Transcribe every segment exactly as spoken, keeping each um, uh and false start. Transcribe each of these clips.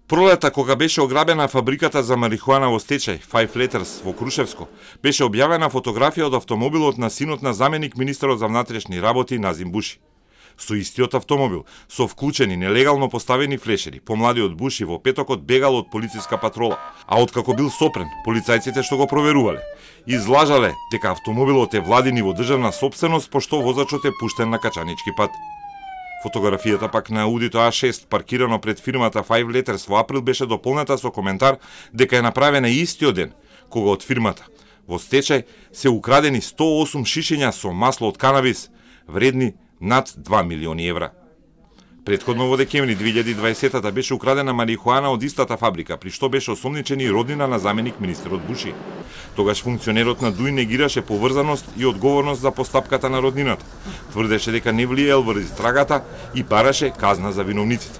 Пролета, кога беше ограбена фабриката за марихуана во стечај, Five Letters во Крушевско, беше објавена фотографија од автомобилот на синот на заменик министерот за внатрешни работи Назим Буши. Со истиот автомобил, со вклучени нелегално поставени флешери, помладиот Буши во петокот бегал од полициска патрола, а откако бил сопрен, полицајците што го проверувале, излажале дека автомобилот е владин и во државна сопственост, пошто возачот е пуштен на качанички пат. Фотографијата пак на Аудито А шест, паркирано пред фирмата Five Letters во април, беше дополнета со коментар дека е направена истиот ден, кога од фирмата во стечај се украдени сто и осум шишиња со масло од канабис, вредни над два милиони евра. Претходно во декември две илјади и дваесета беше украдена марихуана од истата фабрика, при што беше осомничен и роднина на заменик министерот Буши. Тогаш функционерот на ДУИ негираше поврзаност и одговорност за постапката на роднината. Тврдеше дека не влиел во истрагата и бараше казна за виновниците.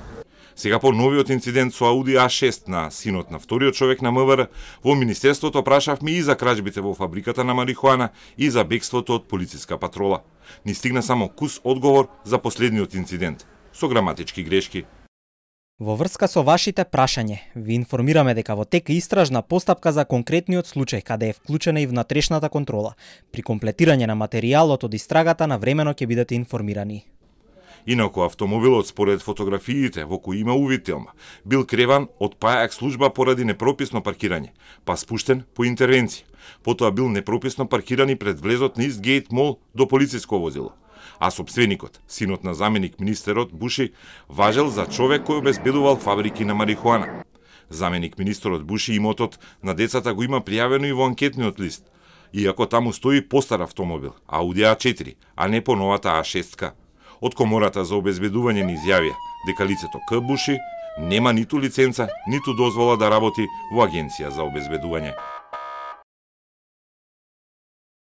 Сега по новиот инцидент со Ауди А шест на синот на вториот човек на МВР, во Министерството прашавме и за кражбите во фабриката на марихуана и за бегството од полициска патрола. Ни стигна само кус одговор за последниот инцидент, со граматички грешки. Во врска со вашите прашање, ви информираме дека во тек е истражна постапка за конкретниот случај каде е вклучена и внатрешната контрола. При комплетирање на материјалот од истрагата навремено ќе бидете информирани. Инаку автомобилот според фотографиите во кои има увидителма бил креван од пајак служба поради непрописно паркирање, па спуштен по интервенција. Потоа бил непрописно паркиран и пред влезот на Истгейт мол до полициско возило. А собственикот, синот на заменик министерот Буши, важел за човек кој обезбедувал фабрики на марихуана. Заменик министерот Буши имотот на децата го има пријавено и во анкетниот лист, иако таму стои постар автомобил, Ауди А четири, а не по новата А шест. Од комората за обезбедување ни изјавија дека лицето К. Буши нема ниту лиценца, ниту дозвола да работи во агенција за обезбедување.